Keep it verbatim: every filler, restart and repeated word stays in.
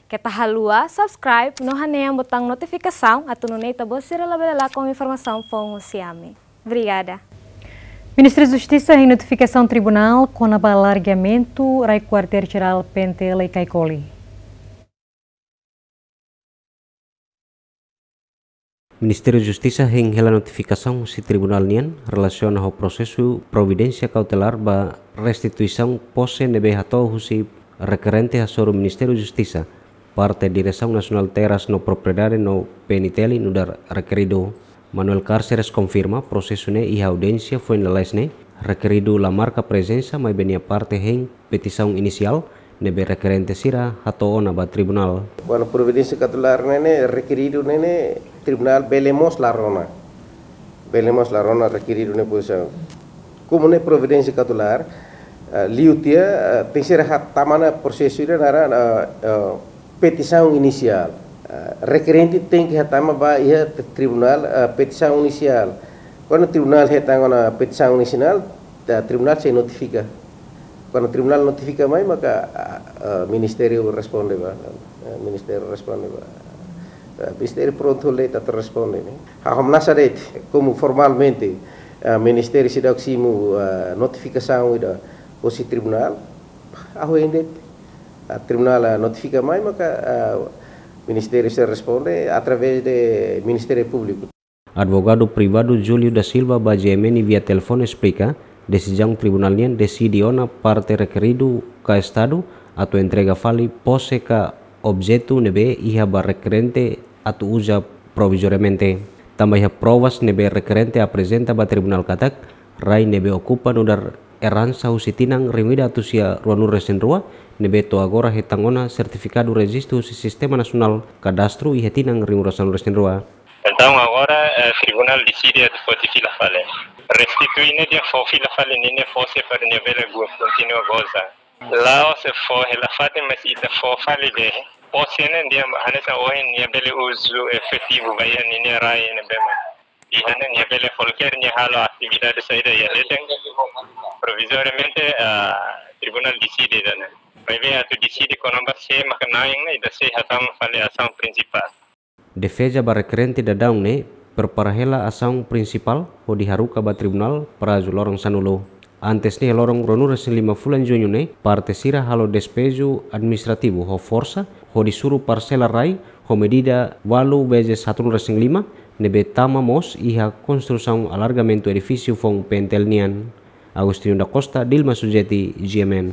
Keta haluha subscribe no hanehan butaun notifikasaun atu nune'e ita-boot sira labele lakon informasaun foun husi ami. Obrigada. Ministériu Justisa hein notifikasaun tribunál kona-ba alargamentu rai Kuartél Jerál P N T L iha Caicoli. Ministériu Justisa hein hela notifikasaun husi tribunál nian relasiona ho prosesu providénsia kautelár ba restituisaun pose ne'ebé hato'o husi rekerente hasoru Ministériu Justisa, parte Diresaun Nasionál Terras no Propriedade no P N T L nu'udar rekeridu. Manuel Cárceres konfirma prosesu ne'e iha audiénsia foin lalais ne'e, rekeridu la marka prezensa maibé nia parte hein petisaun inisiál ne'ebé rekerente sira hato'o ona ba tribunál. Kuandu providénsia kautelár ne'e ne'e, rekeridu ne'e ne'e, tribunál bele mós la rona. Bele mós la rona rekeridu ne'e pozisaun. Komu ne'e providénsia kautelár, eh, liu tiha, eh, tenke ser hatama ona prosesu ida naran, eh, eh, petisaun inisiál. Eh, rekerente tenke hatama ba iha t-, tribunál, eh, petisaun inisiál. Kuandu tribunál hetan ona petisaun inisiál, eh, tribunál sei notifika. Kuandu tribunál notifika mai, maka, ah, ah, ministériu responde ba, ah, ministériu responde ba. Ah, ministériu prontu halo de'it atu responde ne'e. Ha'u hamnasa de'it, komu formalmente, ah, ministériu seidauk simu, ah, notifikasaun ida husi tribunál, ha'u hein de'it. Ah, tribunál, ah, notifika mai, maka, ah, ministériu sei responde através de Ministériu Públiku. Advogadu privadu Júlio da Silva ba G M N via telefone esplika, desizaun tribunál nian deside ona parte rekeridu ka Estadu atu entrega fali pose ka objetu ne'ebé iha ba rekerente atu uza provizoriamente. Tanba iha provas ne'ebé rekerente aprezenta ba tribunál katak, rai ne'ebé okupa nu'udar eransa husi tinan rihun ida atus sia ruanulu-resin-rua, ne'ebé to'o agora hetan ona sertifikadu rejistu husi Sistema Nasionál Kadastru iha tinan rihun ruanulu-resin-rua. Entaun agora, eh, tribunál deside atu foti fila fali. Restitui ne'e dehan fó fila fali ninia pose para nia bele go-, kontinua goza. La'ós fó hela fatin, mas ita fó fali de'it. Pose ne'e dehan hanesan ohin nia bele uzu efetivu ba iha ninia rai ne'ebé mak. Iha ne'e nia bele kualkér nia halo atividade saida iha leten. Provizoriamente, ah, tribunál deside ida-ne'e. Maibé atu deside kona-ba sé maka na'in ne'e ita sei hatama fali asaun prinsipál. Defeza ba rekerente daudaun ne'e prepara hela asaun prinsipál hodi haruka ba tribunál prazu loron sanulu. Antes ne'e loron ruanulu-resin-lima fulan Juñu ne'e, parte sira halo despeju administrativu ho forsa hodi suru parsela rai ho medida ualu vezes haatnulu-resin-lima ne'ebé tama mós iha konstrusaun alargamentu edifísiu foun P N T L nian. Agostinho da Costa, Dilma Sujeti, G M N.